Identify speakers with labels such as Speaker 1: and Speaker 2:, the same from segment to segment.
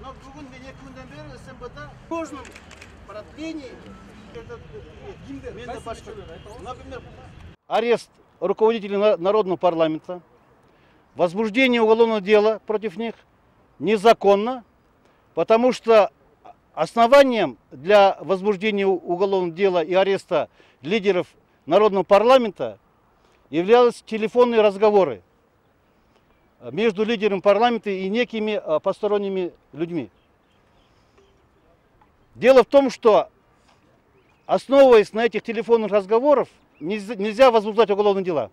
Speaker 1: Но бүгін мен 2 күнден бері СМБ-да кожным продление, например, арест руководителей Народного парламента, возбуждение уголовного дела против них незаконно, потому что основанием для возбуждения уголовного дела и ареста лидеров Народного парламента являлись телефонные разговоры между лидером парламента и некими посторонними людьми. Дело в том, что, основываясь на этих телефонных разговорах, нельзя возбуждать уголовные дела.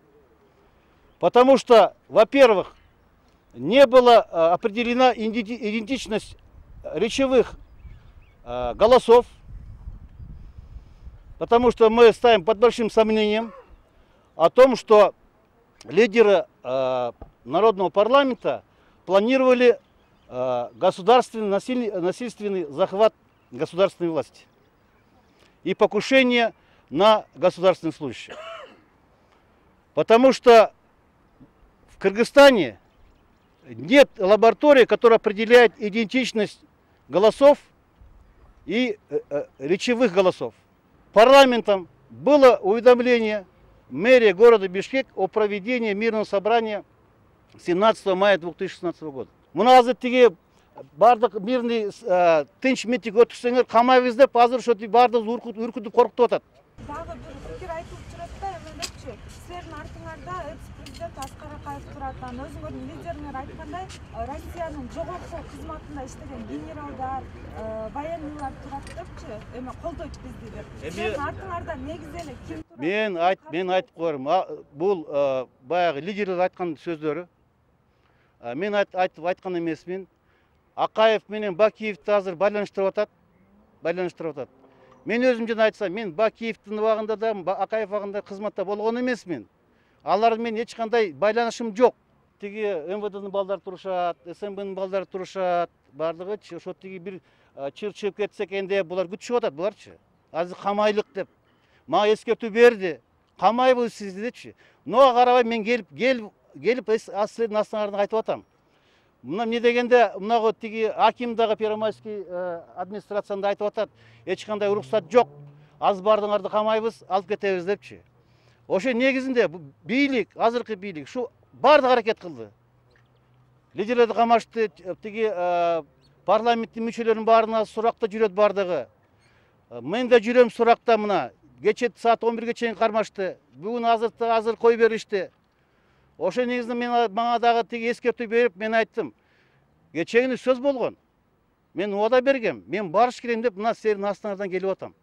Speaker 1: Потому что, во-первых, не была определена идентичность речевых голосов, потому что мы ставим под большим сомнением о том, что лидеры Народного парламента планировали насильственный захват государственной власти и покушение на государственных служащих. Потому что в Кыргызстане нет лаборатории, которая определяет идентичность голосов и речевых голосов. Парламентом было уведомление мэрии города Бишкек о проведении мирного собрания 17 мая 2016 года. Мына азыр тиги бардык мирный тынч митинг өткөрсөңөр камайбыз деп азыр ошо бардыгыбыз үркүтүп коркутуп атат.
Speaker 2: Дагы бир пикир айтылып турат да, эметчи. Силердин артыңарда экс-президент Аскар Акаев турат. Өзүңөрдүн лидериңер айткандай, Россиянын жогорку кызматында иштеген генералдар, военныйлар турат депчи, эме колдойт бизди деп. Силердин артыңарда негизи эле ким турат?
Speaker 1: Мен айтып коерм. Бул баягы лидерлер айткан сөздөрү. Мен айткан эмесмин. Акаев менен Бакиевди азыр байланыштырып атат. Мен өзүм жана айтсам, мен Бакиевдин убагында да, Акаев убагында кызматта болгон эмесмин. Алар менен эч кандай байланышым жок. Тиги МВДнын балдары турушат, СМБнын балдары турушат, бардыгычы ошо тиги бир чыгып кетсе экен деп булар күтүшүп атат буларчы. Азыр камайлык деп. Мага эскертүү берди. Камайбыз сизди депчи. Мага карабай мен келип силердин астыңардан айтып атам. Мына эмне дегенде, мынагы тиги аким дагы Первомайский администрациясында айтып атат, эч кандай уруксат жок. Аз бардыңарды камайбыз, алып кетебиз депчи. Ошо негизинде бийлик, азыркы бийлик ушу бардык аракет кылды. Лидерлерди камашты, тиги парламенттин мүчөлөрүнүн баарына суракта жүрөт бардыгы. Мен да жүрөм суракта мына. Кече саат 11ге чейин кармашты. Бүгүн азыр кой беришти. Ошо негизинде мага дагы тиги эскертүү берип, мен айттым. Кечегини сөз болгон. Мен убада бергем. Мен барыш керем деп мына силердин астыңардан келип атам.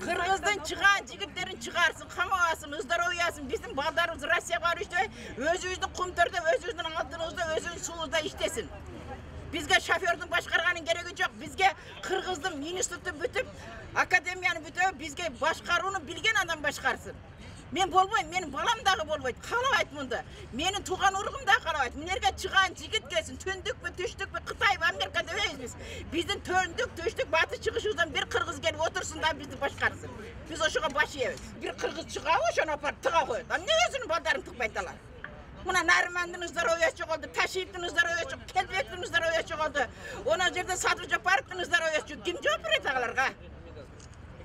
Speaker 3: Кыргыздын чыган жигиттерин чыгарсын, камабасын, здоровьясын, биздин балдарыбыз Россияга барышты, өзүбүздүн кумтурда, өзүбүздүн алдыбызда, өзүбүздүн сулубузда иштесин. Бизге шофердин башкарганын кереги жок. Бизге Кыргыздын институтун бүтүп, академияны бүтүп, бизге башкарууну билген адам башкарсын. Мен болбойм, менин балам дагы болбойт. Каалабайт мунда. Менин тууган уругум да каалабайт. Мынерге чыган жигит келсин, төндүкпү, түштүкпү, Кытайбы, Америка дебейбиз биз. Биздин төндүк, түштүк, батыш чыгышыбыздан бир кыргыз келип отурсун да бизди башкарсын. Биз ошого баш ийебиз. Бир кыргыз чыгабы, ошону апарып тыга коет. Эмне өзүнүн балдарын тыкпайт алар? Мына Нармандын здоровьясы жоголду, Ташиевдин здоровьясы жок, Келбектин здоровьясы жоголду. Она жерде Садыр Жапаровдун здоровьясы жок. Ким жооп берет аларга?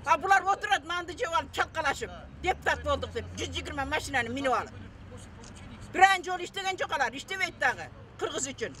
Speaker 3: А булар отурат, нанды жеп алып чалкалашып, депутат болдук деп 120 машинаны минип алып. Биран жол иштеген жок алар, иштебейт дагы кыргыз үчүн.